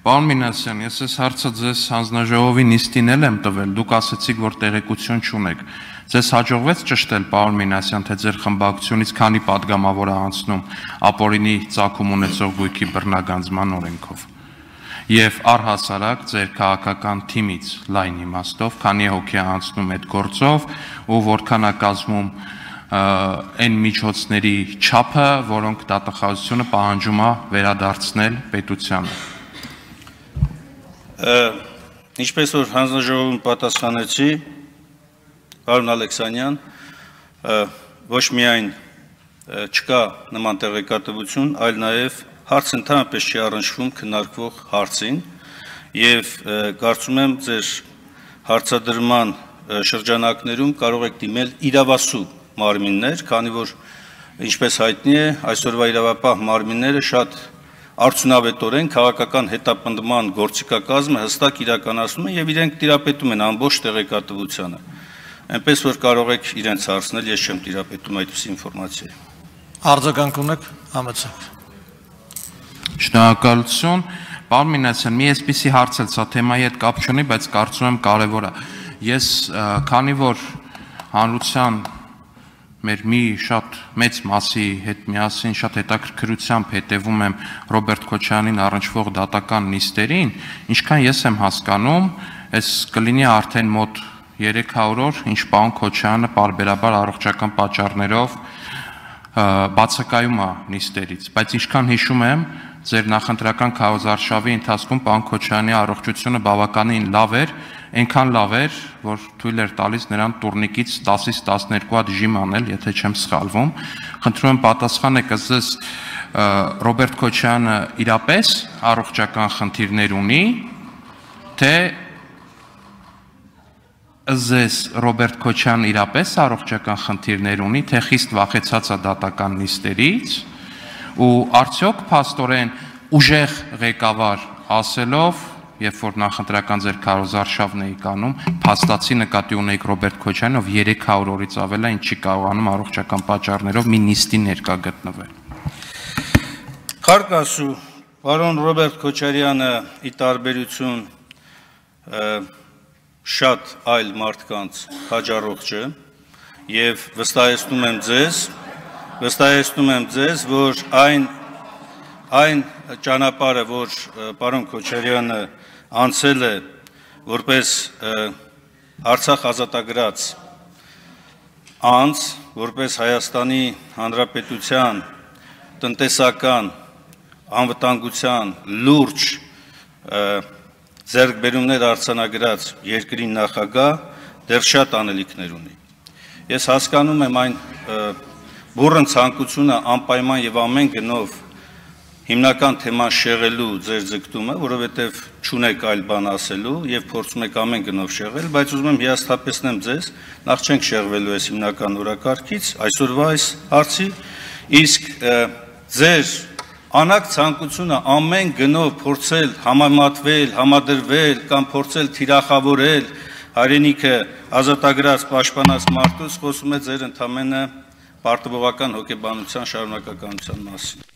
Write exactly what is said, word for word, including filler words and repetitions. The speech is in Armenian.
Պարոն Մինասյան, ես այս հարցը ձեզ հանձնաժողովի նիստին էլ եմ տվել, դուք ասացիք, որ տեղեկություն չունեք։ Ձեզ հաջողվեց ճշտել, պարոն Մինասյան, թե ձեր խմբակցությունից քանի պատգամավոր է անցնում ապօրինի ծագում ունեցող գույքի բռնագանձման օրենքով։ Եվ առհասարակ ձեր քաղաքական թիմից լայն իմաստով, քանի հոգի է անցնում այդ գործով ու որքան է կազմում այն միջոցների չափը, որոնք դատախազությունը պահանջում է վերադարձնել պետությանը։ Ինչպես որ հանձնաժողովում պատասխանեցի, պարոն Ալեքսանյան, ոչ միայն չկա նման տեղեկատվություն, այլ նաև հարց ընդհանրապես չի առնչվում քննարկվող հարցին եւ կարծում եմ ձեր հարցադրման շրջանակներում կարող եք դիմել իրավասու մարմիններ, քանի որ ինչպես հայտնի է, այսօրվա իրավապահ մարմինները շատ արդյունավետորեն քաղաքական հետապնդման գործիքակազմը հստակ իրականացնում են եւ իրենք տիրապետում են ամբողջ տեղեկատվությանը։ Այնպես որ կարող եք իրենց հարցնել, ես չեմ տիրապետում այդպիսի ինֆորմացիայի։ Արձագանք ունեք, համեցեք։ Շնորհակալություն, պարոն Մինասյան, մի այսպիսի հարց էլ սա թեմայի հետ կապ չունի, բայց կարծում եմ կարևոր է։ Ես քանի որ հանրության մեր մի շատ մեծ մասի հետ միասին շատ հետաքրքրությամբ հետևում եմ Ռոբերտ Քոչարյանին առնչվող դատական նիստերին, ինչքան ես եմ հասկանում, այս կլինի արդեն մոտ երեք հարյուր օր, ինչ պարոն Քոչարյանը պարբերաբար առողջական պատճառներով բացակայում է նիստերից, բայց ինչքան հիշում եմ, ձեր նախընտրական քարոզարշավի ընթացքում պարոն Քոչարյանի առողջությունը բավականին լավ էր, այնքան լավ էր, որ թույլ էր տալիս նրան տուրնիկից տասից տասներկու հատ ժիմ անել, եթե չեմ սխալվում։ Խնդրում եմ պատասխանեք, ըստ Ռոբերտ Քոչարյանը իրապես առողջական խնդիրներ ունի, թե ըստ Ռոբերտ Քոչարյանը իրապես առողջական խնդիրներ ունի, թե խիստ վախեցած է դատական նիստերից, ու արդյոք փաստորեն ուժեղ ղեկավար ասելով, երբ որ նախընտրական ձեր քարոզարշավն էի կանում, փաստացի նկատի ունեիք Ռոբերտ Քոչարյանին, ով երեք հարյուր օրից ավել է, ինչ չի կարողանում առողջական պատճառներով մի նիստի ներկա գտնվել։ Փառք Աստծո, պարոն Ռոբերտ Քոչարյանը ի տարբերություն շատ այլ մարդկանց հաջառողջ է եւ վստահեցնում եմ ձեզ, վստահեցնում եմ ձեզ, որ այն այն ճանապարհը, որ պարոն Քոչարյանը անցել է որպես Արցախ ազատագրած անձ, որպես Հայաստանի Հանրապետության տնտեսական անվտանգության լուրջ ձեռքբերումներ արձանագրած երկրի նախագահ դեռ շատ անելիքներ ունի։ Ես հասկանում եմ այն բուռն ցանկությունը անպայման եւ ամեն գնով հիմնական թեման շեղելու ձեր ձգտումը, որովհետև չունեք այլ բան ասելու եւ փորձում եք ամեն գնով շեղել, բայց ուզում եմ հիասթափեցնեմ ձեզ, նախ չենք շեղվելու այս հիմնական օրակարգից, այսօրվա այս հարցի, իսկ ձեր անակ ցանկությունը ամեն գնով փորձել համեմատվել, համադրվել կամ փորձել թիրախավորել հայրենիքը ազատագրած պաշտպանած մարդուց խոսում է ձեր ընդամենը պարտվողական հոգեբանության շարունակականության մասին։